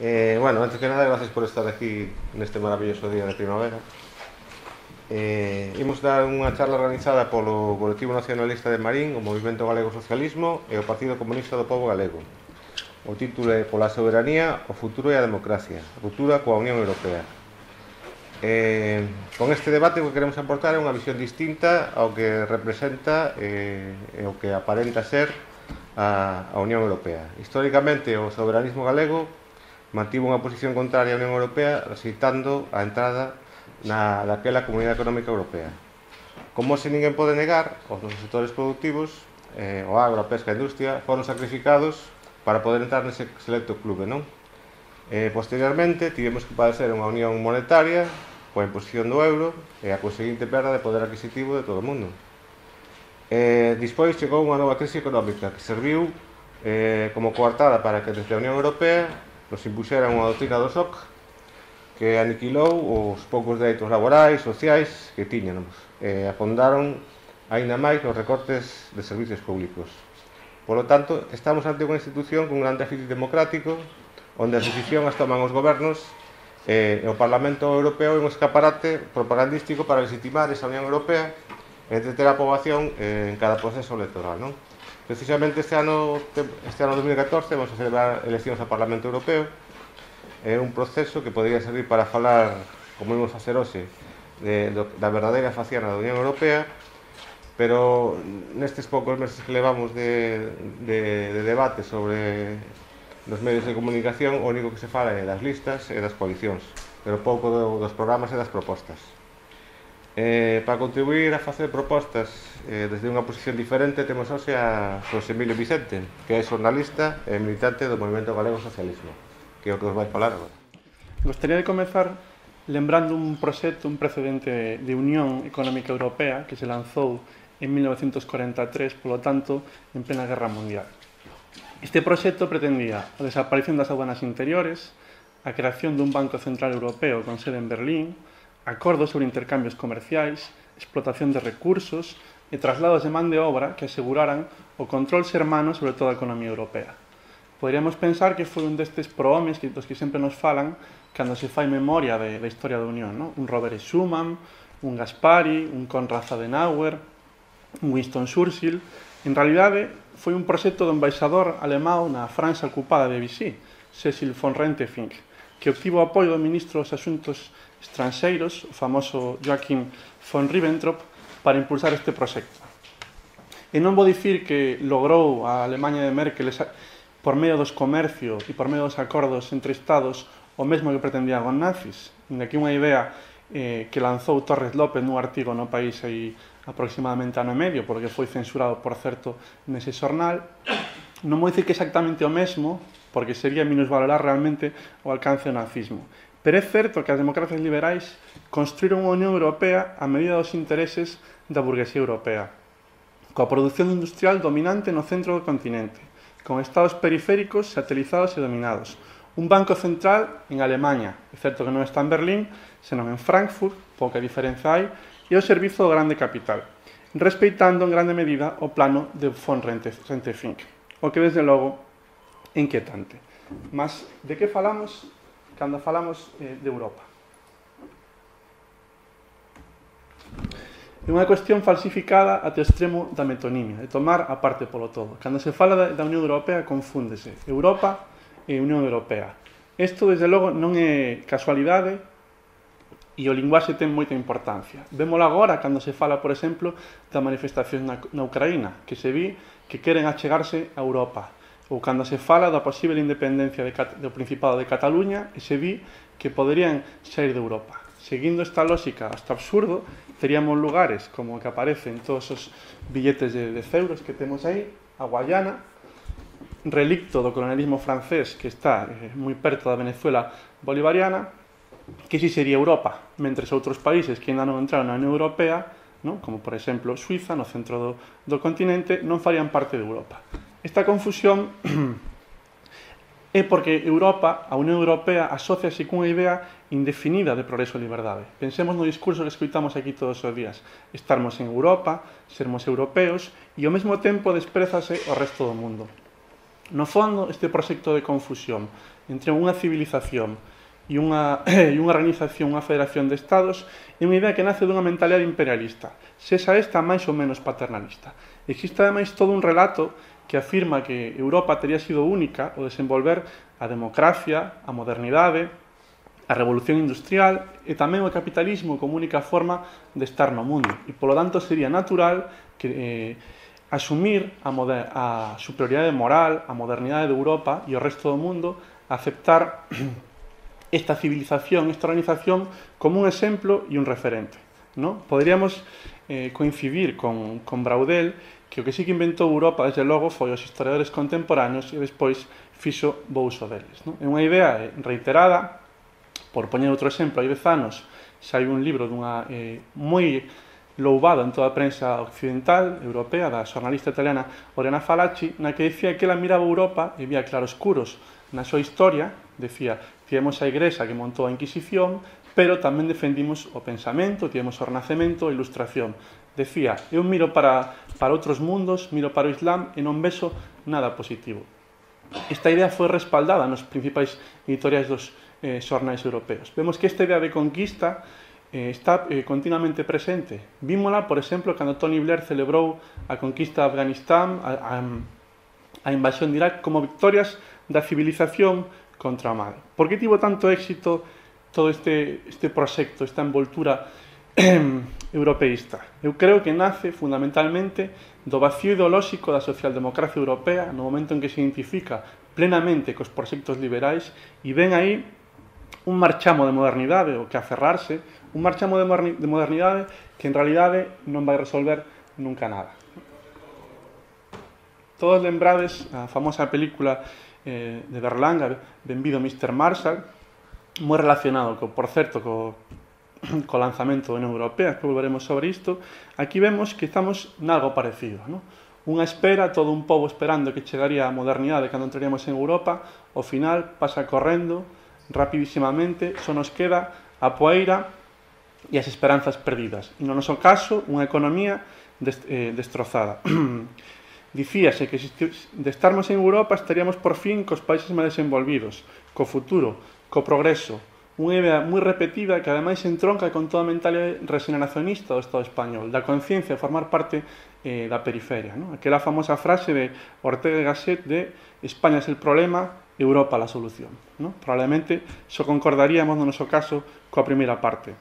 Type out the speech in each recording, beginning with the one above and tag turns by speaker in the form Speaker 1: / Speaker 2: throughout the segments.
Speaker 1: Bueno, antes que nada, gracias por estar aquí neste maravilloso día de primavera. Imos dar unha charla organizada polo Colectivo Nacionalista de Marín, o Movimento Galego Socialismo e o Partido Comunista do Pobo Galego. O título é Pola soberanía, o futuro e a democracia, ruptura coa Unión Europea. Con este debate o que queremos aportar é unha visión distinta ao que representa e o que aparenta ser a Unión Europea. Históricamente, o soberanismo galego mantivo unha posición contraria á Unión Europea, rexeitando a entrada daquela Comunidade Económica Europea. Como se ninguén pode negar, os nosos sectores productivos, o agro, a pesca e a industria, foron sacrificados para poder entrar nese selecto clube, non? Posteriormente, tivemos que padecer unha unión monetaria coa imposición do euro e a conseguinte perda de poder adquisitivo de todo o mundo. Despois chegou unha nova crise económica que serviu como coartada para que desde a Unión Europea nos impuxeran unha doutrina do SOC que aniquilou os poucos dereitos laborais, sociais que tiñamos e afondaron aínda máis nos recortes de servicios públicos. Por lo tanto, estamos ante unha institución con un gran déficit democrático onde as decisións as toman os gobernos e o Parlamento Europeo é un escaparate propagandístico para legitimar esa Unión Europea e entreter a poboación en cada proceso electoral, non? Precisamente este ano 2014 vamos a celebrar eleccións ao Parlamento Europeo. É un proceso que podría servir para falar, como imos facer hoxe, da verdadeira faciana da Unión Europea, pero nestes poucos meses que levamos de debate sobre nos medios de comunicación, o único que se fala é das listas e das coalicións, pero pouco dos programas e das propostas. Para contribuir a facer propostas desde unha posición diferente, temos hoxe a José Emilio Vicente, que é xornalista e militante do Movimento Galego Socialismo, que é o que os vai falar agora.
Speaker 2: Gostaría de comezar lembrando un proxecto, un precedente de Unión Económica Europea que se lanzou en 1943, polo tanto, en plena Guerra Mundial. Este proxecto pretendía a desaparición das aduanas interiores, a creación dun Banco Central Europeo con sede en Berlín, acordos sobre intercambios comerciais, explotación de recursos e traslados de man de obra que aseguraran o control sermano sobre toda a economía europea. Poderíamos pensar que foi un destes prohomes dos que sempre nos falan cando se fai memoria da historia da Unión, non? Un Robert Schuman, un Gaspari, un Konrad Adenauer, un Winston Churchill. En realidade, foi un proxecto do embaixador alemán na França ocupada de Vichy, Cecil von Rentefink, que obtivo o apoio do ministro dos Asuntos Estranxeiros, o famoso Joachim von Ribbentrop, para impulsar este proxecto. E non vou dicir que logrou a Alemanha de Merkel por medio dos comercios e por medio dos acordos entre estados o mesmo que pretendían os nazis. Aquí unha idea que lanzou Torres López nun artigo no País aí aproximadamente ano e medio, porque foi censurado, por certo, nese xornal. Non vou dicir que exactamente o mesmo, porque sería minusvalorar realmente o alcance do nazismo. Pero é certo que as democracias liberais construíron unha Unión Europea a medida dos intereses da burguesía europea, coa produción industrial dominante no centro do continente, con estados periféricos satelizados e dominados, un banco central en Alemanha, é certo que non está en Berlín, senón en Frankfurt, pouca diferenza hai, e o servizo do grande capital, respeitando en grande medida o plano de von Rentefink, o que desde logo é inquietante. Mas de que falamos cando falamos de Europa? É unha cuestión falsificada até o extremo da metonimia, de tomar a parte polo todo. Cando se fala da Unión Europea, confúndese Europa e Unión Europea. Isto, desde logo, non é casualidade e o linguaxe ten moita importancia. Vémolo agora cando se fala, por exemplo, da manifestación na Ucraína, que se vi que queren achegarse a Europa, ou cando se fala da posible independencia do Principado de Cataluña e se vi que poderían sair de Europa. Seguindo esta lógica hasta absurdo, teríamos lugares como o que aparece en todos os billetes de 10 euros que temos aí, a Guayana, relicto do colonialismo francés que está moi perto da Venezuela bolivariana, que si sería Europa, mentres outros países que ainda non entraron na Unión Europea, non? Como por exemplo Suiza, no centro do continente, non farían parte de Europa. Esta confusión é porque Europa, a Unión Europea, asóciase cunha idea indefinida de progreso e liberdade. Pensemos no discurso que escoitamos aquí todos os días. Estarmos en Europa, sermos europeos, e ao mesmo tempo desprezase o resto do mundo. No fondo, este proxecto de confusión entre unha civilización e unha organización, unha federación de estados, é unha idea que nace dunha mentalidade imperialista, sexa esta máis ou menos paternalista. Existe ademais todo un relato que afirma que Europa teria sido única ao desenvolver a democracia, a modernidade, a revolución industrial e tamén o capitalismo como única forma de estar no mundo. E, polo tanto, sería natural que asumir a superioridade moral, a modernidade de Europa e o resto do mundo, aceptar esta civilización, esta organización, como un exemplo e un referente, ¿no? Poderíamos coincidir con Braudel, que o que sí que inventou Europa, desde logo, foi os historiadores contemporáneos e despois fixo bo uso deles, ¿no? É unha idea reiterada. Por poñer outro exemplo, hai 10 anos sai un libro dunha moi louvado en toda a prensa occidental, europea, da xornalista italiana Oriana Fallaci, na que dicía que ela miraba Europa e vía claroscuros na súa historia. Decía, tivemos a Igrexa que montou a Inquisición, pero tamén defendimos o pensamento, tivemos o Renacemento, a Ilustración. Decía, eu miro para outros mundos, miro para o Islam e non vexo nada positivo. Esta idea foi respaldada nos principais editoriais dos xornais europeos. Vemos que esta idea de conquista está continuamente presente. Vímola, por exemplo, cando Tony Blair celebrou a conquista de Afganistán, a invasión de Irak, como victorias da civilización contra o mal. Por que tivo tanto éxito todo este proxecto, esta envoltura europeísta? Eu creo que nace fundamentalmente do vacío ideolóxico da socialdemocracia europea no momento en que se identifica plenamente cos proxectos liberais e ven aí un marchamo de modernidade, o que aferrarse, un marchamo de modernidade que en realidade non vai resolver nunca nada. Todos lembrades a famosa película de Berlanga, Benvido Mr. Marshall, moi relacionado, por certo, co lanzamento da Unión Europea, que volveremos sobre isto. Aquí vemos que estamos nalgo parecido, ¿no? Unha espera, todo un pobo esperando que chegaría a modernidade cando entraríamos en Europa, ao final pasa correndo rapidísimamente, só nos queda a poeira e as esperanzas perdidas. E no noso caso, unha economía destrozada. Dicíase que de estarmos en Europa estaríamos por fin cos países máis desenvolvidos, co futuro, co progreso, unha idea moi repetida que ademais entronca con toda a mentalidade regeneracionista do Estado español, da conciencia de formar parte da periferia, ¿no? Aquela famosa frase de Ortega y Gasset de España es el problema, Europa la solución, ¿no? Probablemente só concordaríamos no noso caso coa primeira parte.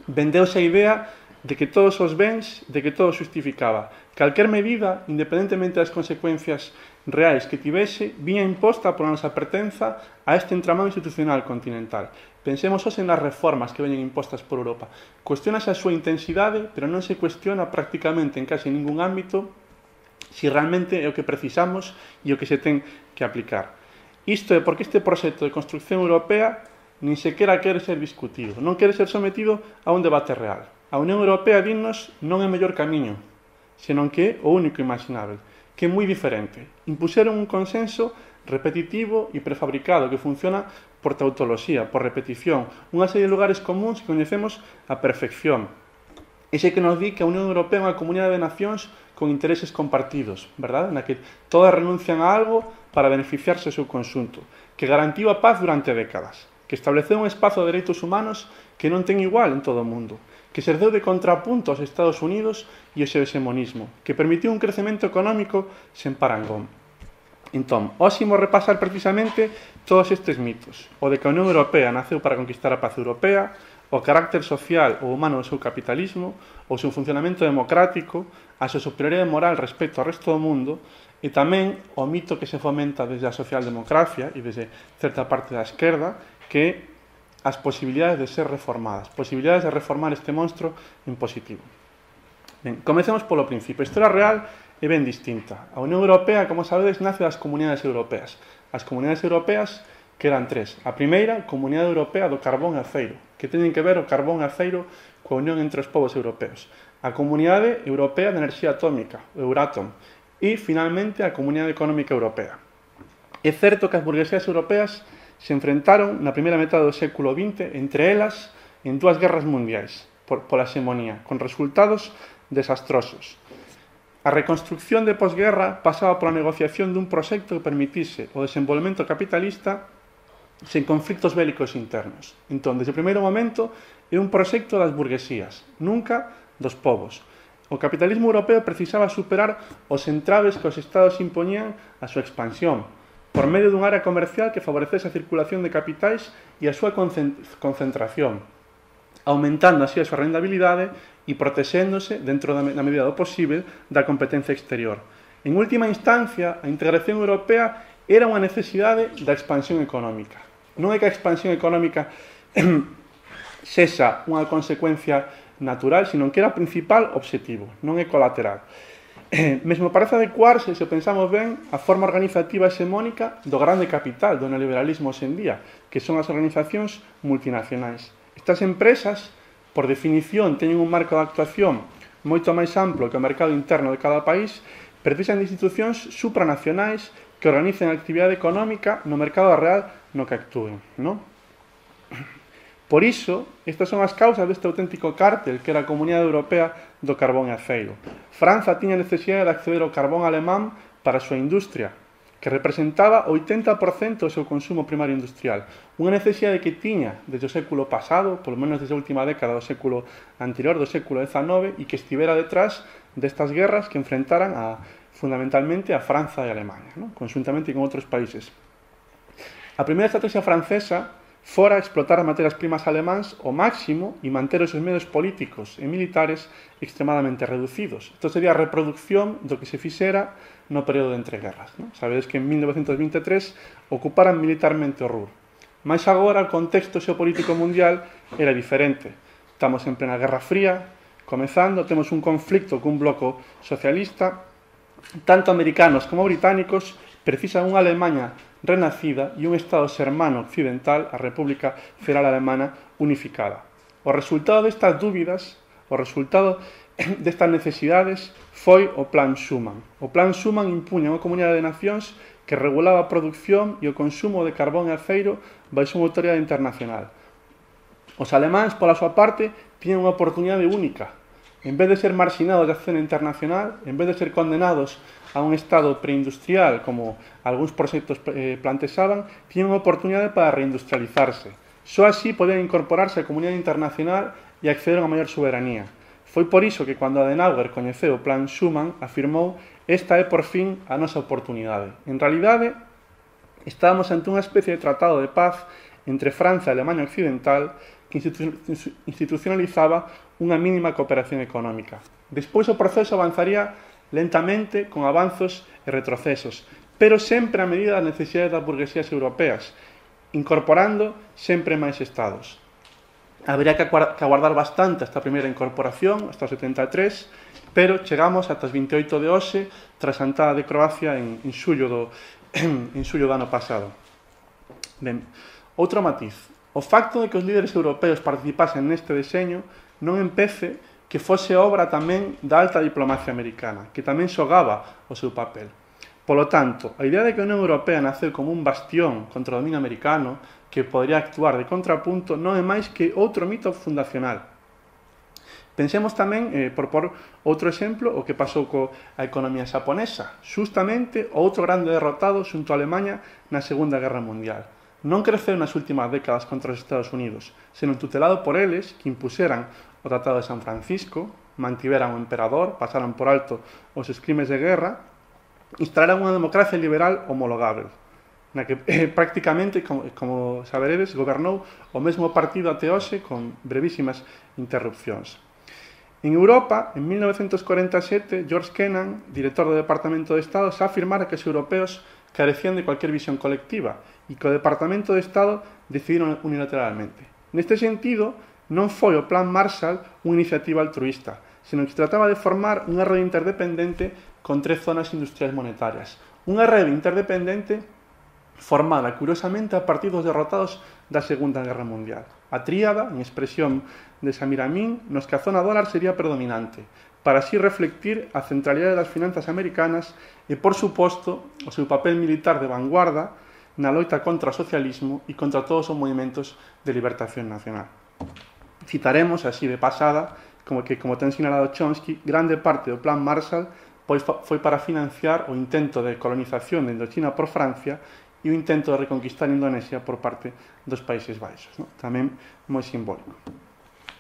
Speaker 2: Vendeuse a idea de que todos os bens, de que todo justificaba. Calquer medida, independentemente das consecuencias reais que tivese, viña imposta pola nosa pertenza a este entramado institucional continental. Pensemos hoxe nas reformas que veñen impostas por Europa. Cuestiónase a súa intensidade, pero non se cuestiona prácticamente en case ningún ámbito si realmente é o que precisamos e o que se ten que aplicar. Isto é porque este proxecto de construcción europea nin sequera quere ser discutido, non quere ser sometido a un debate real. A Unión Europea, dinnos, non é o mellor camiño, senón que é o único imaginável, que é moi diferente. Impuseron un consenso repetitivo e prefabricado que funciona por tautoloxía, por repetición, unha serie de lugares comuns que coñecemos a perfección. Ese que nos di que a Unión Europea é unha comunidade de nacións con intereses compartidos, verdade? Na que todas renuncian a algo para beneficiarse do seu conxunto, que garantiu a paz durante décadas, que estableceu un espazo de dereitos humanos que non ten igual en todo o mundo, que serveu de contrapunto aos Estados Unidos e ao seu hegemonismo, que permitiu un crecemento económico sen parangón. Entón, hoxe imos repasar precisamente todos estes mitos, o de que a Unión Europea naceu para conquistar a paz europea, o carácter social ou humano do seu capitalismo, o seu funcionamento democrático, a súa superioridade moral respecto ao resto do mundo, e tamén o mito que se fomenta desde a socialdemocracia e desde certa parte da esquerda, que as posibilidades de ser reformadas, posibilidades de reformar este monstro en positivo. Ben, comecemos polo principio. A historia real é ben distinta. A Unión Europea, como sabedes, nace das comunidades europeas. As comunidades europeas, que eran tres. A primeira, Comunidade Europea do Carbón e Aceiro, que teñen que ver o carbón e aceiro coa unión entre os povos europeos. A Comunidade Europea de Enerxía Atómica, o Euratom. E, finalmente, a Comunidade Económica Europea. É certo que as burguesías europeas se enfrentaron na primeira metade do século XX, entre elas, en dúas guerras mundiais, pola hegemonía, con resultados desastrosos. A reconstrucción de posguerra pasaba pola negociación dun proxecto que permitise o desenvolvemento capitalista sen conflictos bélicos internos. Entón, desde o primeiro momento, é un proxecto das burguesías, nunca dos povos. O capitalismo europeo precisaba superar os entraves que os estados impoñían a súa expansión, por medio dun área comercial que favorecese a circulación de capitais e a súa concentración, aumentando así a súa rentabilidade e protexéndose, dentro da medida do posible, da competencia exterior. En última instancia, a integración europea era unha necesidade da expansión económica. Non é que a expansión económica sexa unha consecuencia natural, sino que era o principal obxectivo, non é colateral. Mesmo parece adecuarse, se pensamos ben, a forma organizativa hexemónica do grande capital do neoliberalismo hoxe en día, que son as organizacións multinacionais. Estas empresas, por definición, teñen un marco de actuación moito máis amplo que o mercado interno de cada país, precisan de institucións supranacionais que organicen a actividade económica no mercado real no que actúen, non? Por iso, estas son as causas deste auténtico cártel que era a Comunidade Europea do Carbón e Aceiro. Franza tiña necesidade de acceder ao carbón alemán para a súa industria, que representaba o 80% do seu consumo primario industrial. Unha necesidade que tiña desde o século pasado, polo menos desde a última década do século anterior, do século XIX, e que estivera detrás destas guerras que enfrentaran fundamentalmente a Franza e a Alemania, ¿no? Conjuntamente con outros países. A primeira estrategia francesa fora explotar as materias primas alemáns ao máximo e manter os seus medios políticos e militares extremadamente reducidos. Isto sería a reproducción do que se fixera no período de entreguerras, ¿no? Sabedes que en 1923 ocuparan militarmente o Ruhr. Mais agora o contexto xeopolítico mundial era diferente. Estamos en plena Guerra Fría, comezando, temos un conflicto cun bloco socialista, tanto americanos como británicos precisan unha Alemanha renacida e un Estado sermano occidental, a República Federal Alemana unificada. O resultado destas dúbidas, o resultado destas necesidades foi o Plan Schuman. O Plan Schuman impuña unha comunidade de nacións que regulaba a produción e o consumo de carbón e aceiro baixo unha autoridade internacional. Os alemáns, pola súa parte, tiñan unha oportunidade única. En vez de ser marxinados da escena internacional, en vez de ser condenados a un estado preindustrial, como algúns proxectos plantexaban, tiñan unha oportunidade para reindustrializarse. Só así podían incorporarse á comunidade internacional e acceder a unha maior soberanía. Foi por iso que cando Adenauer coñeceu o Plan Schuman, afirmou: esta é por fin a nosa oportunidade. En realidade, estábamos ante unha especie de tratado de paz entre Franza e Alemania Occidental que institucionalizaba unha mínima cooperación económica. Despois o proceso avanzaría lentamente con avanzos e retrocesos, pero sempre a medida das necesidades das burguesías europeas, incorporando sempre máis estados. Habería que aguardar bastante esta primeira incorporación, hasta o 73, pero chegamos ata os 28 de hoxe, tras a entrada de Croacia en xullo do ano pasado. Ben, outro matiz. O facto de que os líderes europeos participasen neste deseño non empece que fose obra tamén da alta diplomacia americana, que tamén xogaba o seu papel. Polo tanto, a idea de que a Unión Europea naceu como un bastión contra o dominio americano que podría actuar de contrapunto non é máis que outro mito fundacional. Pensemos tamén, por outro exemplo, o que pasou coa economía xaponesa, xustamente outro grande derrotado xunto a Alemanha na Segunda Guerra Mundial. Non creceu nas últimas décadas contra os Estados Unidos, senón tutelado por eles que impuseran o Tratado de San Francisco, mantiveran o emperador, pasaran por alto os crimes de guerra, instalaran unha democracia liberal homologável, na que prácticamente, como saberedes, gobernou o mesmo partido até hoxe con brevísimas interrupcións. En Europa, en 1947, George Kennan, director do Departamento de Estado, xa afirmara que os europeos carecían de cualquier visión colectiva e que o Departamento de Estado decidiron unilateralmente. Neste sentido, non foi o Plan Marshall unha iniciativa altruísta, senón que se trataba de formar unha rede interdependente con 3 zonas industriais monetarias. Unha rede interdependente formada, curiosamente, a partir dos derrotados da Segunda Guerra Mundial. A tríada, en expresión de Samir Amin, nos que a zona dólar sería predominante, para así reflectir a centralidade das finanzas americanas e, por suposto, o seu papel militar de vanguarda na loita contra o socialismo e contra todos os movimentos de libertación nacional. Citaremos, así de pasada, como ten sinalado Chomsky, grande parte do Plan Marshall foi para financiar o intento de colonización de Indochina por Francia e o intento de reconquistar Indonesia por parte dos Países Baixos, non? Tamén moi simbólico.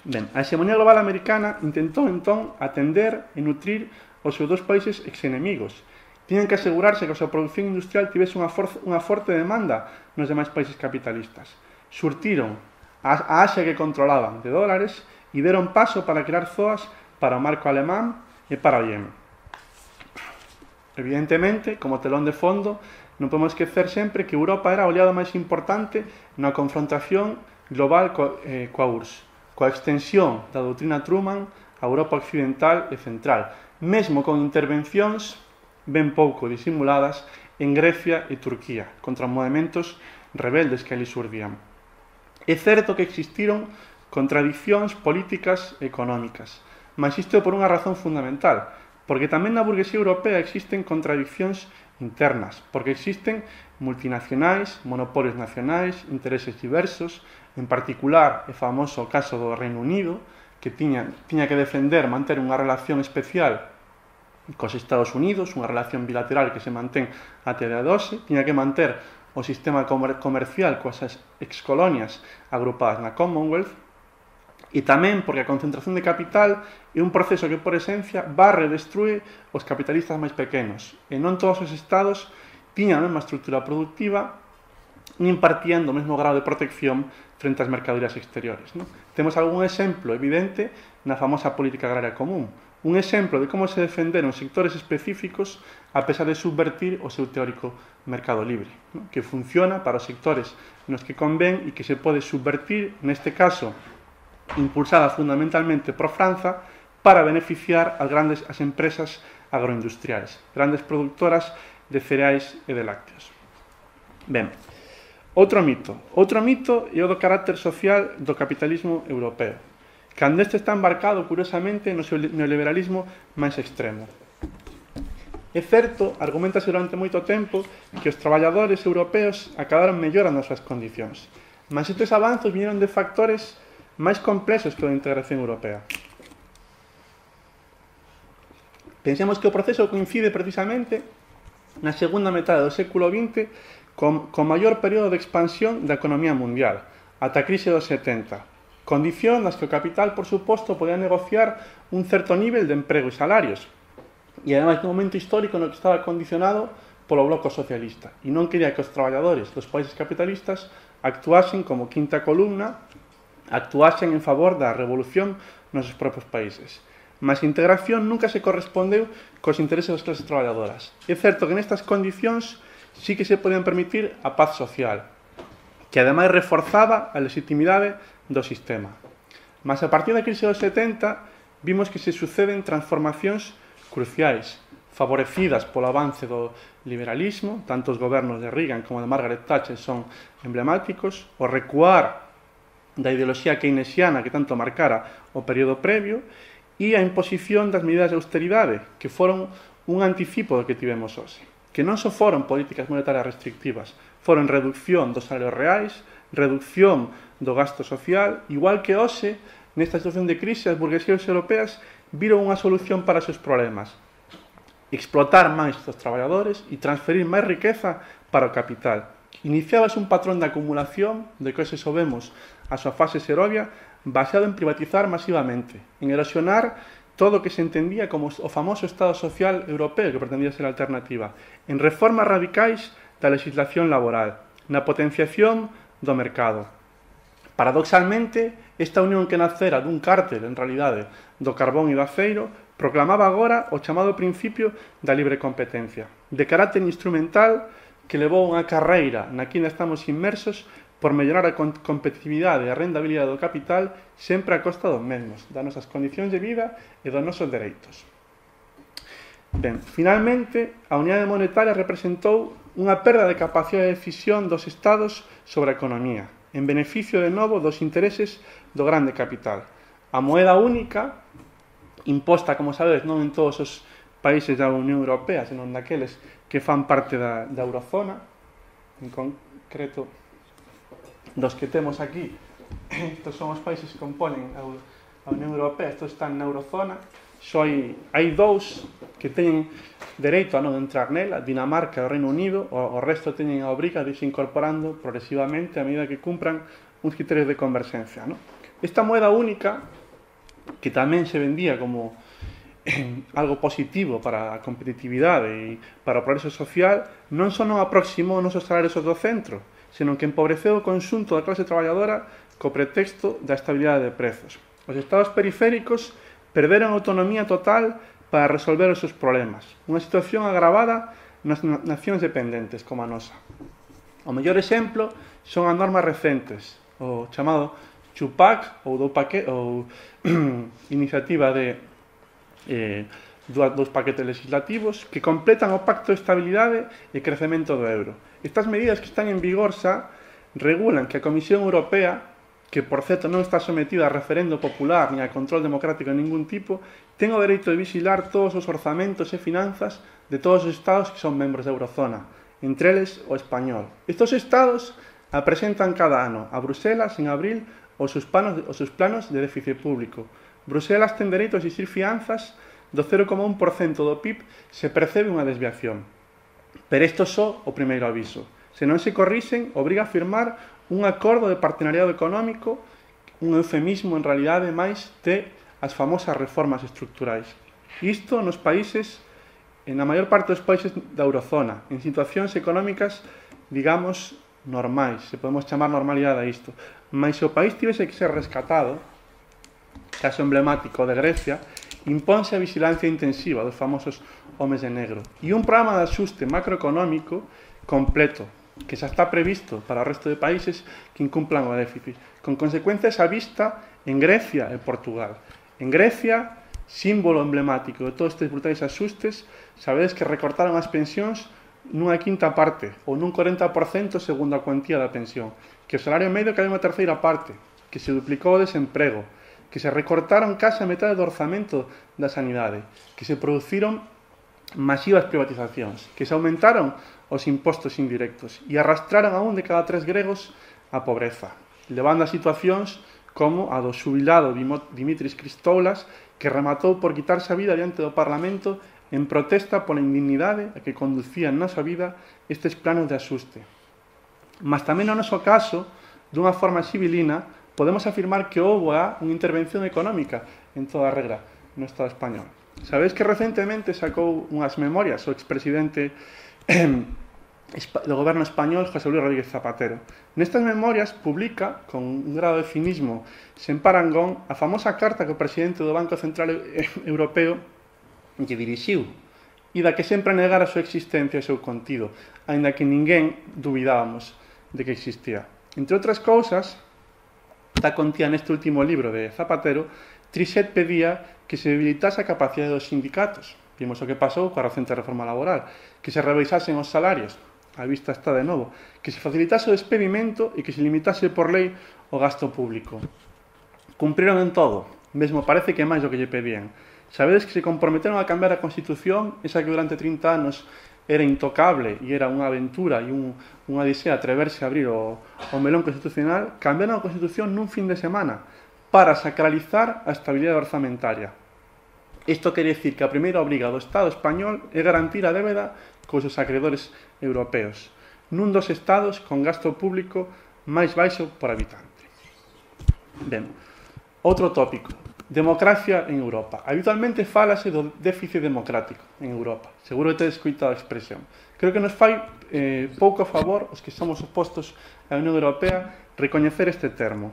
Speaker 2: Ben, a hegemonía global americana intentou entón atender e nutrir os seus dos países ex-enemigos. Tiñan que asegurarse que a súa produción industrial tivese unha forte demanda nos demais países capitalistas. Surtiron a Asia que controlaban de dólares e deron paso para crear zoas para o marco alemán e para o Yemen. Evidentemente, como telón de fondo, non podemos esquecer sempre que Europa era o aliado máis importante na confrontación global coa URSS, coa extensión da doutrina Truman a Europa occidental e central, mesmo con intervencións ben pouco disimuladas en Grecia e Turquía contra movementos rebeldes que ali xurdían. É certo que existiron contradicións políticas e económicas, mas isto por unha razón fundamental, porque tamén na burguesía europea existen contradicións internas, porque existen multinacionais, monopolios nacionais, intereses diversos, en particular é famoso o caso do Reino Unido, que tiña que defender manter unha relación especial cos Estados Unidos, unha relación bilateral que se mantén até a de hoxe, tiña que manter o sistema comercial coas excolonias agrupadas na Commonwealth, e tamén porque a concentración de capital é un proceso que, por esencia, barre e destrue os capitalistas máis pequenos, e non todos os estados tiñan a mesma estrutura productiva nin partían do mesmo grado de protección frente ás mercadorías exteriores, non? Temos algún exemplo evidente na famosa política agraria común, un exemplo de como se defenderon sectores específicos a pesar de subvertir o seu teórico mercado libre, non? Que funciona para os sectores nos que convén e que se pode subvertir, neste caso, impulsada fundamentalmente por Franza, para beneficiar as empresas agroindustriais, grandes productoras de cereais e de lácteos. Ben, outro mito é o do carácter social do capitalismo europeo, cando este está embarcado, curiosamente, no seu neoliberalismo máis extremo. É certo, argumentase durante moito tempo, que os traballadores europeos acabaron mellorando as súas condicións, mas estes avanzos viñeron de factores máis complexos que a integración europea. Pensemos que o proceso coincide precisamente na segunda metade do século XX co maior período de expansión da economía mundial, ata a crise dos 70, condición nas que o capital, por suposto, podía negociar un certo nivel de emprego e salarios, e ademais nun momento histórico no que estaba condicionado polo bloco socialista, e non quería que os traballadores dos países capitalistas actuasen como quinta columna, actuasen en favor da revolución nos seus propios países. Mas a integración nunca se correspondeu cos intereses das clases traballadoras. É certo que nestas condicións sí que se podían permitir a paz social, que ademais reforzaba a legitimidade do sistema. Mas a partir da crise dos 70 vimos que se suceden transformacións cruciais, favorecidas polo avance do liberalismo, tanto os gobernos de Reagan como de Margaret Thatcher son emblemáticos, o recuar da ideoloxía keynesiana que tanto marcara o período previo e a imposición das medidas de austeridade, que foron un anticipo do que tivemos hoxe, que non só foron políticas monetarias restrictivas, foron reducción dos salarios reais, reducción do gasto social, igual que hoxe, nesta situación de crise, as burguesías europeas viron unha solución para os seus problemas, explotar máis os traballadores e transferir máis riqueza para o capital. Iniciábase un patrón de acumulación, de que hoxe sabemos a súa fase xerovia, baseado en privatizar masivamente, en erosionar todo o que se entendía como o famoso Estado Social Europeo, que pretendía ser a alternativa, en reformas radicais da legislación laboral, na potenciación do mercado. Paradoxalmente, esta unión que nacera dun cártel, en realidade, do carbón e do aceiro, proclamaba agora o chamado principio da libre competencia, de carácter instrumental que levou unha carreira na que ainda estamos inmersos por mellorar a competitividade e a rendabilidade do capital sempre a costa dos mesmos, das nosas condicións de vida e dos nosos dereitos. Ben, finalmente, a unidade monetaria representou unha perda de capacidade de decisión dos estados sobre a economía, en beneficio de novo dos intereses do grande capital. A moeda única, imposta, como sabedes, non en todos os países da Unión Europea, senón daqueles que fan parte da eurozona, en concreto dos que temos aquí, estos son os países que componen a Unión Europea, estos están na eurozona, hai dous, que teñen dereito a non entrar nela, Dinamarca e o Reino Unido, o resto teñen a obriga de irse incorporando progresivamente a medida que cumpran uns criterios de converxencia. ¿No? Esta moeda única, que tamén se vendía como algo positivo para a competitividade e para o progreso social, non só non aproximou os nosos salarios do centro, senón que empobreceu o conxunto da clase traballadora co pretexto da estabilidade de prezos. Os estados periféricos perderon autonomía total para resolver os seus problemas, unha situación agravada nas nacións dependentes como a nosa. O mellor exemplo son as normas recentes, o chamado Chupac ou iniciativa de dos paquetes legislativos que completan o Pacto de Estabilidade e Crecemento do euro. Estas medidas que están en vigor xa regulan que a Comisión Europea, que por certo non está sometida a referendo popular ni a control democrático de ningún tipo, ten o dereito de vigilar todos os orzamentos e finanzas de todos os estados que son membros da Eurozona, entre eles o español. Estos estados presentan cada ano a Bruselas en abril os seus planos de déficit público. Bruselas ten dereito a exigir fianzas do 0,1% do PIB se percebe unha desviación. Pero isto só o primeiro aviso. Se non se corrixen, obriga a firmar un acordo de partenariado económico, un eufemismo en realidade máis de as famosas reformas estructurais. Isto nos países, na maior parte dos países da Eurozona, en situacións económicas, digamos, normais, se podemos chamar normalidade a isto. Mas se o país tivese que ser rescatado, caso emblemático de Grecia, impónse a vigilancia intensiva dos famosos homes de negro e un programa de axuste macroeconómico completo, que xa está previsto para o resto de países que incumplan o déficit, con consecuencias á vista en Grecia e Portugal. En Grecia, símbolo emblemático de todos estes brutais axustes, sabedes que recortaron as pensións nunha quinta parte, ou nun 40% segundo a cuantía da pensión, que o salario medio cae unha terceira parte, que se duplicou o desemprego, que se recortaron case a metade do orzamento da sanidade, que se produciron masivas privatizacións, que se aumentaron os impostos indirectos e arrastraron a un de cada 3 gregos a pobreza, levando a situacións como a do xubilado Dimitris Christoulas, que rematou por quitarse a vida diante do Parlamento en protesta pola indignidade a que conducían na súa vida estes planos de axuste. Mas tamén no noso caso, dunha forma civilina, podemos afirmar que houve unha intervención económica en toda a regra no Estado español. Sabedes que recentemente sacou unhas memorias o expresidente do goberno español, José Luis Rodríguez Zapatero. Nestas memorias publica, con un grado de cinismo sen parangón, a famosa carta que o presidente do Banco Central Europeo lle dirixiu e da que sempre negara a súa existencia e o seu contido, aínda que ninguén dubidábamos de que existía. Entre outras cousas, está contida neste último libro de Zapatero, Trichet pedía que se debilitase a capacidade dos sindicatos. Vimos o que pasou coa recente reforma laboral, que se revisasen os salarios, a vista está de novo, que se facilitase o despedimento e que se limitase por lei o gasto público. Cumpriron en todo, mesmo parece que máis do que lle pedían. Sabedes que se comprometeron a cambiar a Constitución, esa que durante 30 anos era intocable e era unha aventura e unha odisea atreverse a abrir o melón constitucional, cambiaron a Constitución nun fin de semana para sacralizar a estabilidade orzamentaria. Isto quere dicir que a primeira obriga do Estado español é garantir a débeda cos seus acreedores europeos, nun dos estados con gasto público máis baixo por habitante. Ben, outro tópico. Democracia en Europa. Habitualmente fálase do déficit democrático en Europa. Seguro que tedes escoitado a expresión. Creo que nos fai pouco favor, os que somos opostos á Unión Europea, recoñecer este termo.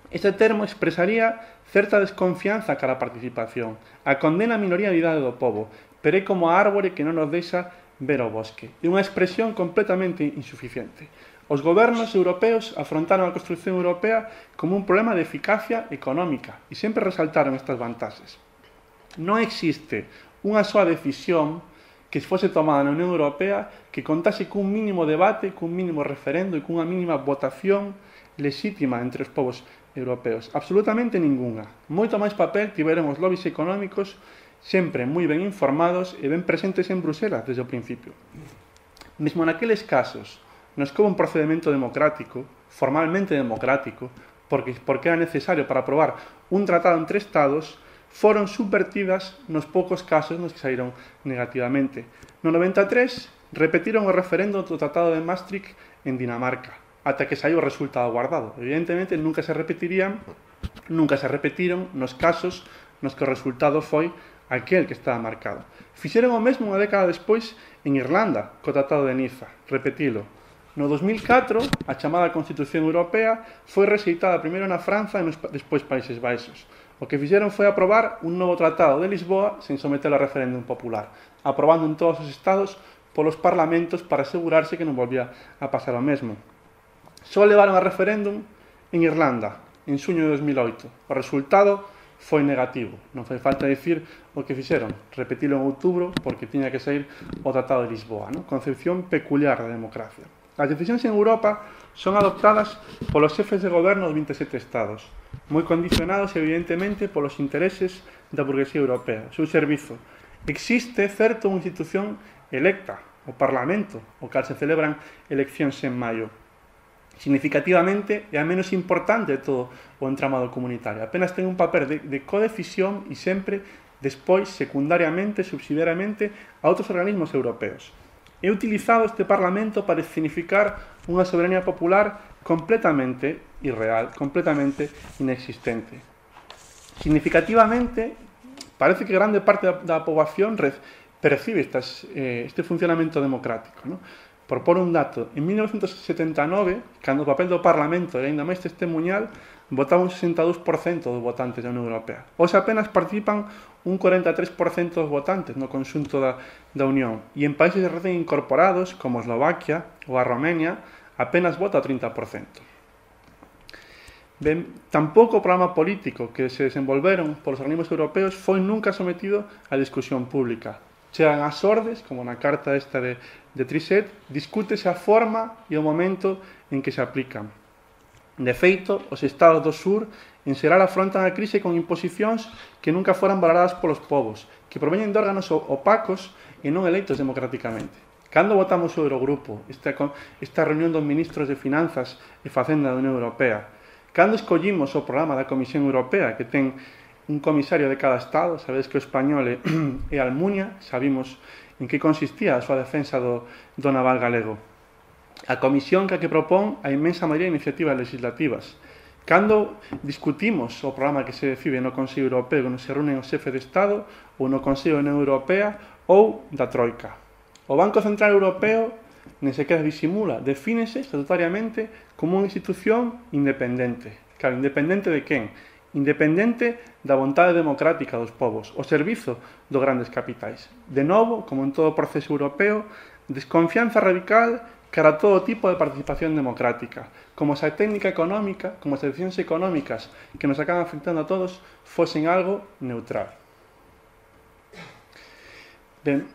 Speaker 2: Este termo expresaría certa desconfianza cara a participación, a condena a minoría de idade do povo, pero é como a árbore que non nos deixa ver o bosque. É unha expresión completamente insuficiente. Os gobernos europeos afrontaron a construción europea como un problema de eficacia económica e sempre resaltaron estas vantaxes. Non existe unha soa decisión que fose tomada na Unión Europea que contase cun mínimo debate, cun mínimo referendo e cunha mínima votación lexítima entre os povos europeos. Absolutamente ningunha. Moito máis papel tiveron os lobbies económicos sempre moi ben informados e ben presentes en Bruselas desde o principio. Mesmo naqueles casos nos que houve un procedimento democrático, formalmente democrático, porque era necesario para aprobar un tratado entre Estados, foron subvertidas nos poucos casos nos que saíron negativamente. No 93 repetiron o referendo do Tratado de Maastricht en Dinamarca, ata que saiu o resultado guardado. Evidentemente, nunca se repetiron nos casos nos que o resultado foi aquel que estaba marcado. Fixeron o mesmo unha década despois en Irlanda, co Tratado de Niza, repetilo. No 2004, a chamada Constitución Europea foi rexeitada primeiro na Franza e despois Países Baixos. O que fixeron foi aprobar un novo Tratado de Lisboa sen sometelo a referéndum popular, aprobando en todos os estados polos parlamentos para asegurarse que non volvía a pasar o mesmo. Só levaron a referéndum en Irlanda, en xuño de 2008. O resultado foi negativo. Non fai falta dicir o que fixeron. Repetilo en outubro porque tiña que sair o Tratado de Lisboa. Concepción peculiar da democracia. As decisións en Europa son adoptadas polos xefes de goberno dos 27 estados, moi condicionados evidentemente polos intereses da burguesía europea, o seu servizo. Existe, certo, unha institución electa, o Parlamento, o cal se celebran eleccións en maio. Significativamente é a menos importante de todo o entramado comunitario. Apenas ten un papel de codecisión e sempre despois, secundariamente, subsidiariamente, a outros organismos europeos. É utilizado este Parlamento para significar unha soberanía popular completamente irreal, completamente inexistente. Significativamente, parece que grande parte da poboación percibe este funcionamento democrático. Por pôr un dato, en 1979, cando o papel do Parlamento era ainda máis testemuñal, votaba un 62% dos votantes da Unión Europea. Hoxe apenas participan un 43% dos votantes no conxunto da Unión. E en países recén incorporados, como Eslovaquia ou a Romania, apenas vota o 30%. Ben, tampouco o programa político que se desenvolveron polos organismos europeos foi nunca sometido a discusión pública. Chegan as ordes, como na carta esta de Trichet, discútese a forma e o momento en que se aplican. De feito, os estados do sur en xeral afrontan a crise con imposicións que nunca foran valoradas polos povos, que proveñen de órganos opacos e non eleitos democráticamente. Cando votamos o Eurogrupo, esta reunión dos ministros de Finanzas e Facenda da Unión Europea? Cando escollimos o programa da Comisión Europea, que ten un comisario de cada estado? Sabedes que o español é Almunia, sabimos en que consistía a súa defensa do naval galego. A comisión que propón a inmensa maioría de iniciativas legislativas. Cando discutimos o programa que se decide no Consello Europeo, cando se reúnen os xefes de Estado, ou no Consello da Unión Europea, ou da Troika. O Banco Central Europeo nen sequera disimula, defínese estatutariamente como unha institución independente. Claro, independente de quen? Independente da vontade democrática dos povos, o servizo dos grandes capitais. De novo, como en todo o proceso europeo, desconfianza radical cara a todo tipo de participación democrática, como se a técnica económica, como as decisións económicas que nos acaban afectando a todos, fosen algo neutral. Ben,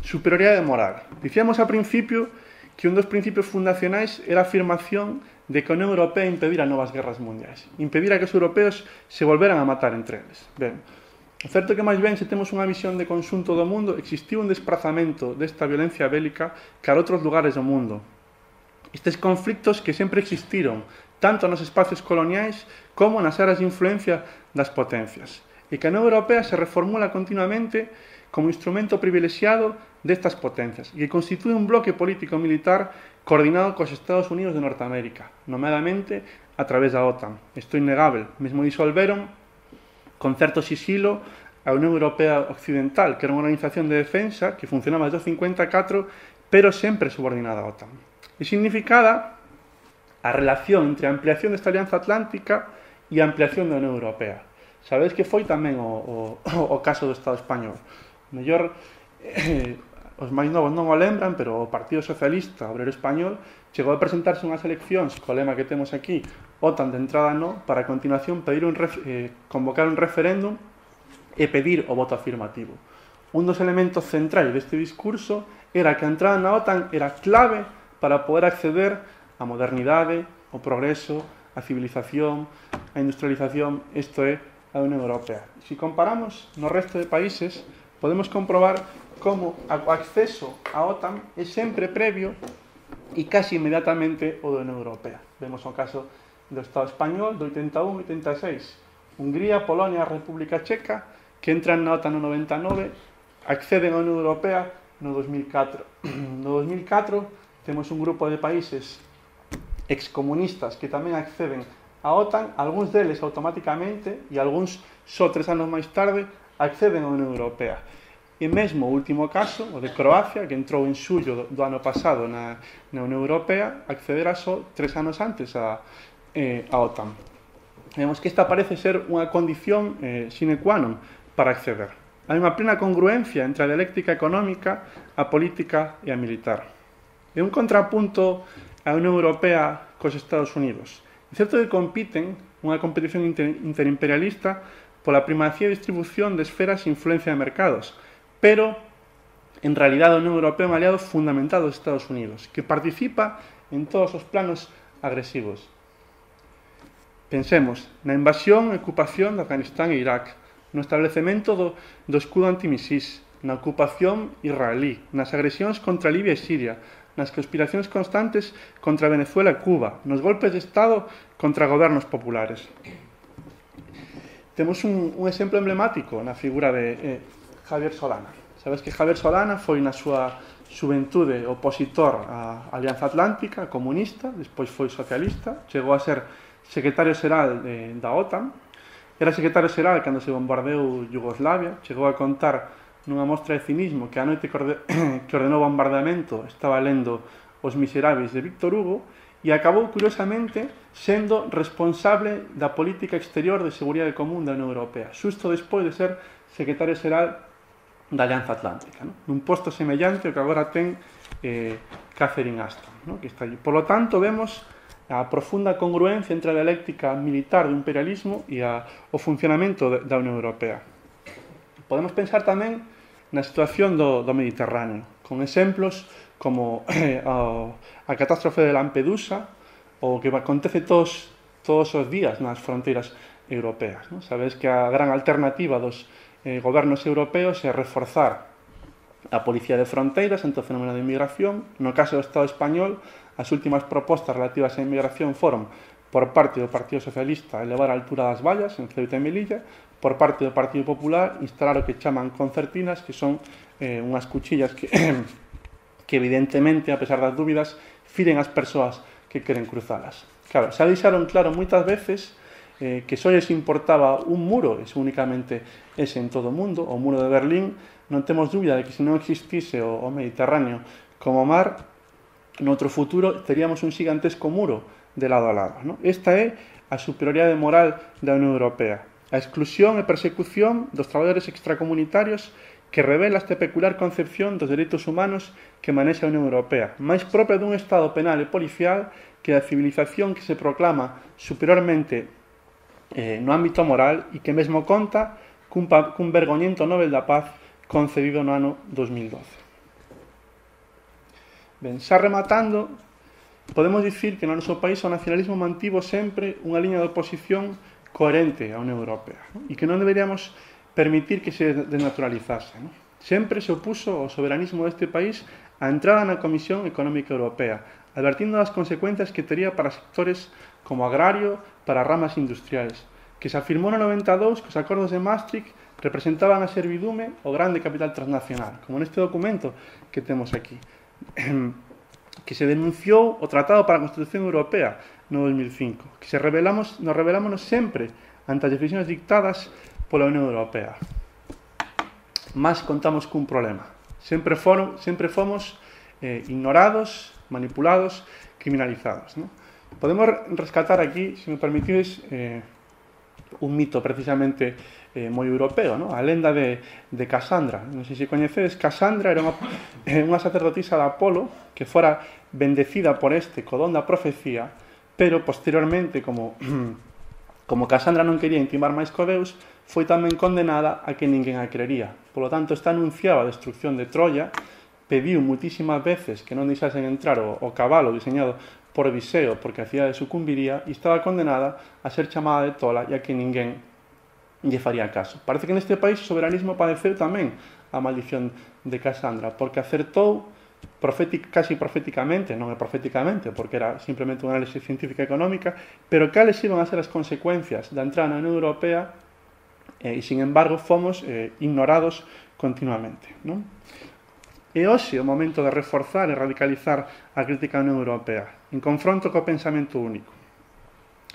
Speaker 2: superioridade moral. Dicíamos ao principio que un dos principios fundacionais era a afirmación de que a Unión Europea impedira novas guerras mundiais, impedira que os europeos se volveran a matar entre eles. Ben, o certo que máis ben, se temos unha visión de conxunto do mundo, existiu un desprazamento desta violencia bélica cara a outros lugares do mundo. Estes conflictos que sempre existiron, tanto nos espacios coloniais como nas áreas de influencia das potencias. E que a Unión Europea se reformula continuamente como instrumento privilexiado destas potencias e que constitúe un bloque político-militar coordinado cos Estados Unidos de Norteamérica, nomeadamente a través da OTAN. Isto é innegable. Mesmo disolveron con certo sisilo a Unión Europea Occidental, que era unha organización de defensa que funcionaba desde o 54, pero sempre subordinada á OTAN. E significada a relación entre a ampliación desta alianza atlántica e a ampliación da Unión Europea. Sabedes que foi tamén o caso do Estado español. Mellor, os máis novos non o lembran, pero o Partido Socialista Obrero Español chegou a presentarse unhas eleccións co lema que temos aquí, OTAN de entrada no, para a continuación convocar un referéndum e pedir o voto afirmativo. Un dos elementos centrais deste discurso era que a entrada na OTAN era clave para poder acceder á modernidade, ao progreso, á civilización, á industrialización, isto é, a Unión Europea. Se comparamos no resto de países, podemos comprobar como o acceso á OTAN é sempre previo e casi inmediatamente o da Unión Europea. Vemos o caso do Estado español do 81 e 86. Hungría, Polonia, República Checa, que entran na OTAN no 99, acceden á Unión Europea no 2004. No 2004 temos un grupo de países excomunistas que tamén acceden á OTAN, algúns deles automáticamente e algúns só 3 anos máis tarde acceden á Unión Europea. E mesmo o último caso, o de Croacia, que entrou en xullo do ano pasado na Unión Europea, accederá só 3 anos antes á OTAN. Vemos que esta parece ser unha condición sine qua non para acceder. Hai unha plena congruencia entre a dialéctica económica, a política e a militar. É un contrapunto a Unión Europea cos Estados Unidos. É certo que compiten unha competición interimperialista pola primacía e distribución de esferas e influencia de mercados, pero en realidade a Unión Europea é un aliado fundamental dos Estados Unidos, que participa en todos os planos agresivos. Pensemos na invasión e ocupación de Afganistán e Irak, no establecemento do escudo antimisís, na ocupación israelí, nas agresións contra Libia e Siria, nas conspiracións constantes contra Venezuela e Cuba, nos golpes de Estado contra gobernos populares. Temos un exemplo emblemático na figura de Javier Solana. Sabes que Javier Solana foi na súa xuventude opositor á Alianza Atlántica, comunista, despois foi socialista, chegou a ser secretario xeral da OTAN, era secretario xeral cando se bombardeou Yugoslavia, chegou a contar nunha mostra de cinismo que a noite que ordenou o bombardeamento estaba lendo Os Miseráveis de Víctor Hugo e acabou, curiosamente, sendo responsable da política exterior de seguridade común da Unión Europea, xusto despois de ser secretario xeral da Alianza Atlántica, ¿no? Nun posto semellante ao que agora ten Catherine Ashton, ¿no? Que está allí. Por lo tanto, vemos a profunda congruencia entre a dialéctica militar do imperialismo e o funcionamento da Unión Europea. Podemos pensar tamén na situación do Mediterráneo, con exemplos como a catástrofe de Lampedusa ou o que acontece todos os días nas fronteiras europeas, ¿no? Sabedes que a gran alternativa dos gobernos europeos é reforzar a policía de fronteiras ante o fenómeno de inmigración. No caso do Estado español, as últimas propostas relativas á inmigración foron por parte do Partido Socialista elevar a altura das vallas en Ceuta e Melilla, por parte do Partido Popular instalar o que chaman concertinas, que son unhas cuchillas que evidentemente, a pesar das dúbidas, firen as persoas que queren cruzalas. Claro, xa deixaron claro moitas veces que só lles importaba un muro, es únicamente ese en todo o mundo, o muro de Berlín. Non temos dúbida de que se non existise o Mediterráneo como mar, noutro futuro teríamos un xigantesco muro de lado a lado, ¿no? Esta é a superioridade moral da Unión Europea, a exclusión e persecución dos traballadores extracomunitarios que revela esta peculiar concepción dos dereitos humanos que manexa a Unión Europea, máis propia dun Estado penal e policial que a civilización que se proclama superiormente no ámbito moral e que mesmo conta cun vergoñento Nobel da Paz concedido no ano 2012. Ben, xa rematando, podemos dicir que no noso país o nacionalismo mantivo sempre unha liña de oposición coherente á Unión Europea, ¿no? E que non deberíamos permitir que se desnaturalizase, ¿no? Sempre se opuso ao soberanismo deste país a entrada na Comisión Económica Europea, advertindo das consecuencias que tería para sectores como agrario, para ramas industriais, que se afirmou no 92 que os acordos de Maastricht representaban a servidume o grande capital transnacional, como neste documento que temos aquí, que se denunciou o Tratado para a Constitución Europea no 2005, que nos rebelámonos sempre ante as decisións dictadas pola Unión Europea. Mas contamos cun problema. Sempre fomos ignorados, manipulados, criminalizados, ¿no? Podemos rescatar aquí, se me permitides, un mito precisamente moi europeo, ¿no? A lenda de Casandra. Non sei se coñecedes, Casandra era unha sacerdotisa de Apolo que fora bendecida por co don da profecía, pero posteriormente, como Casandra non quería intimar máis co Deus, foi tamén condenada a que ninguén a creería. Por lo tanto, está anunciada a destrucción de Troya, pediu muitísimas veces que non deixasen entrar o cabalo diseñado por Odiseo, porque a cidade sucumbiría, e estaba condenada a ser chamada de tola e a que ninguén lle faría caso. Parece que neste país o soberanismo padeceu tamén a maldición de Casandra, porque acertou casi proféticamente, non é proféticamente, porque era simplemente unha análise científica e económica, pero cales iban a ser as consecuencias da entrada na Unión Europea e, sin embargo, fomos ignorados continuamente, non? E hoxe é o momento de reforzar e radicalizar a crítica á Unión Europea, en confronto co pensamento único.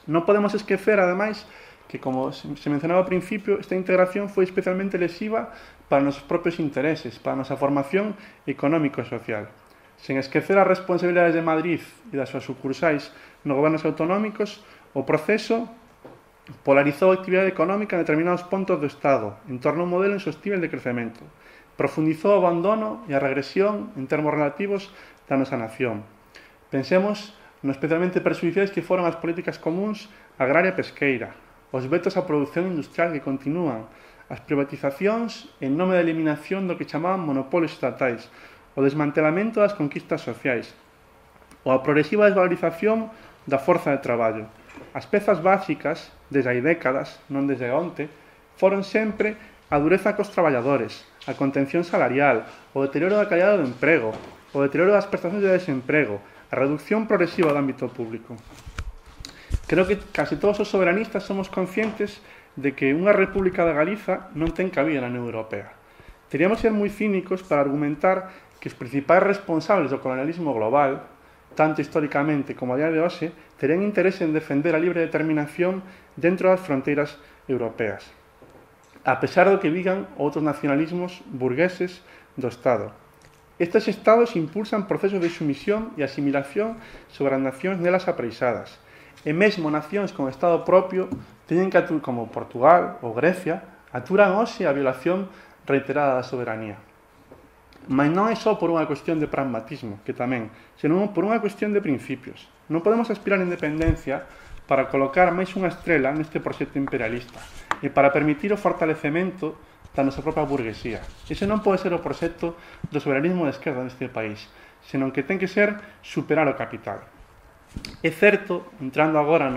Speaker 2: Non podemos esquecer, ademais, que, como se mencionaba ao principio, esta integración foi especialmente lesiva para os nosos propios intereses, para a nosa formación económico e social. Sen esquecer as responsabilidades de Madrid e das súas sucursais nos gobernos autonómicos, o proceso polarizou a actividade económica en determinados puntos do Estado, en torno a un modelo insostível de crecemento. Profundizou o abandono e a regresión en termos relativos da nosa nación. Pensemos no especialmente perxudiciais que foron as políticas comuns agraria e pesqueira, os vetos á produción industrial que continúan, as privatizacións en nome da eliminación do que chamaban monopolios estatais, o desmantelamento das conquistas sociais, ou a progresiva desvalorización da forza de traballo. As pezas básicas, desde hai décadas, non desde onte, foron sempre a dureza cos traballadores, a contención salarial, o deterioro da calidade do emprego, o deterioro das prestacións de desemprego, a reducción progresiva do ámbito público. Creo que casi todos os soberanistas somos conscientes de que unha república de Galiza non ten cabida na Unión Europea. Teríamos que ser moi cínicos para argumentar que os principais responsables do colonialismo global, tanto históricamente como a día de hoxe, terían interese en defender a libre determinación dentro das fronteiras europeas, a pesar do que digan outros nacionalismos burgueses do Estado. Estes Estados impulsan procesos de sumisión e asimilación sobre as nacións nelas apreixadas, e mesmo nacións con Estado propio teñen que, como Portugal ou Grecia, aturan hoxe a violación reiterada da soberanía. Mas non é só por unha cuestión de pragmatismo, que tamén, senón por unha cuestión de principios. Non podemos aspirar a independencia para colocar máis unha estrela neste proxecto imperialista e para permitir o fortalecemento da nosa propia burguesía. Ese non pode ser o proxecto do soberanismo de esquerda neste país, senón que ten que ser superar o capital. É certo, entrando agora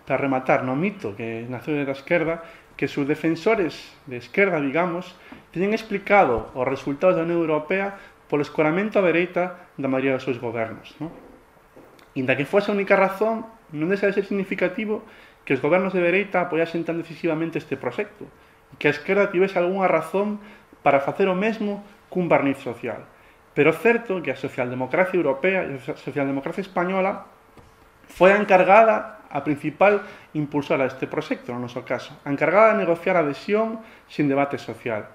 Speaker 2: para rematar no mito que naceu da esquerda, que os defensores de esquerda, digamos, teñen explicado os resultados da Unión Europea polo escoramento á dereita da maioría dos seus gobernos, non? Inda que fose a única razón, non deixa de ser significativo que os gobernos de dereita apoiasen tan decisivamente este proxecto e que a esquerda tivese algunha razón para facer o mesmo cun barniz social. Pero é certo que a socialdemocracia europea e a socialdemocracia española foi a encargada, a principal impulsora deste proxecto, no noso caso, a encargada de negociar a adhesión sin debate social.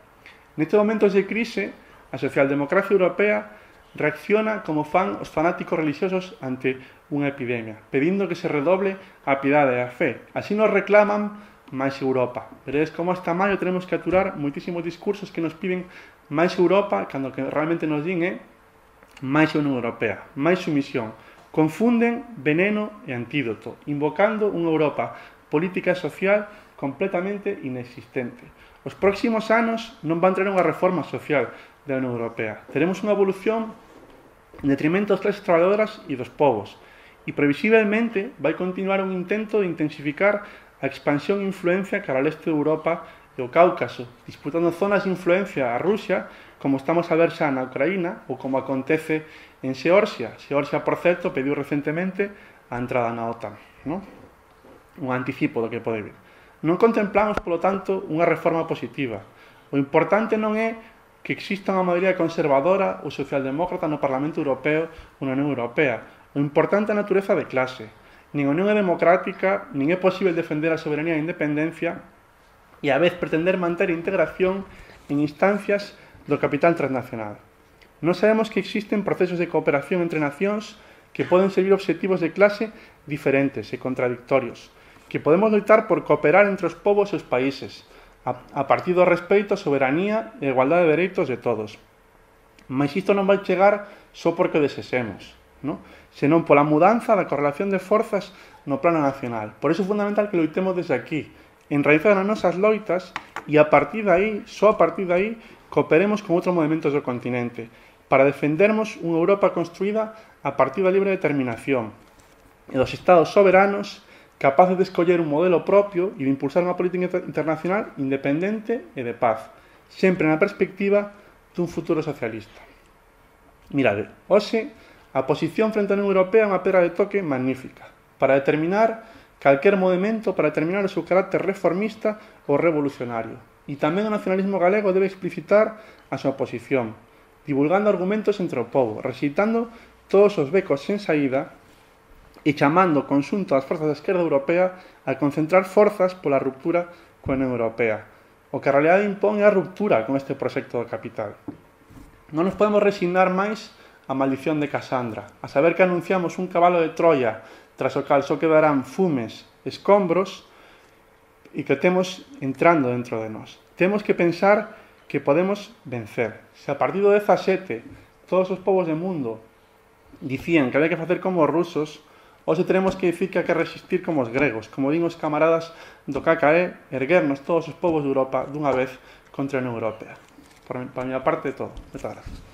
Speaker 2: Nestes momentos de crise, a socialdemocracia europea reacciona como fan os fanáticos religiosos ante unha epidemia, pedindo que se redoble a piedade e a fe. Así nos reclaman máis Europa. Veredes como hasta maio tenemos que aturar moitísimos discursos que nos piden máis Europa, cando que realmente nos din é máis Unión Europea, máis sumisión. Confunden veneno e antídoto, invocando unha Europa política e social completamente inexistente. Os próximos anos non van traer unha reforma social da Unión Europea. Teremos unha evolución en detrimento das clases traballadoras e dos povos, e previsiblemente vai continuar un intento de intensificar a expansión e influencia cara ao leste de Europa e o Cáucaso, disputando zonas de influencia a Rusia, como estamos a ver xa na Ucraína, ou como acontece en Xeorxia. Xeorxia, por certo, pediu recentemente a entrada na OTAN, non? Un anticipo do que pode vir. Non contemplamos, polo tanto, unha reforma positiva. O importante non é que exista unha maioría conservadora ou socialdemócrata no Parlamento Europeo ou na Unión Europea. O importante é a natureza de clase. Nin a Unión é democrática, nin é posible defender a soberanía e a independencia e a vez pretender manter a integración en instancias do capital transnacional. Non sabemos que existen procesos de cooperación entre nacións que poden servir obxectivos de clase diferentes e contradictorios, que podemos loitar por cooperar entre os povos e os países, a partir do respeito á soberanía e a igualdade de dereitos de todos. Mas isto non vai chegar só porque o desexemos, non? Senón pola mudanza da correlación de forzas no plano nacional. Por iso é fundamental que loitemos desde aquí, enraizados nas nosas loitas, e a partir de aí, só a partir de aí, cooperemos con outros movimentos do continente, para defendermos unha Europa construída a partir da libre determinación e dos estados soberanos capaces de escoller un modelo propio e de impulsar unha política internacional independente e de paz, sempre na perspectiva dun futuro socialista. Mirade, hoxe a posición frente á Unión Europea é unha pedra de toque magnífica para determinar calquer movimento, para determinar o seu carácter reformista ou revolucionario. E tamén o nacionalismo galego debe explicitar a súa posición, divulgando argumentos entre o povo, rexeitando todos os becos sen saída e chamando o conxunto das forzas da esquerda europea a concentrar forzas pola ruptura coa Unión Europea. O que a realidade impón é a ruptura con este proxecto do capital. Non nos podemos resignar máis a maldición de Casandra, a saber que anunciamos un cabalo de Troia tras o cal só quedarán fumes, escombros e que temos entrando dentro de nós. Temos que pensar que podemos vencer. Se a partir do 17 todos os povos do mundo dicían que había que facer como os rusos, hoxe teremos que dicir que hai que resistir como os gregos, como din os camaradas do KKE, erguernos todos os povos de Europa dunha vez contra a Unión Europea. Por a miña parte, todo. Moitas grazas.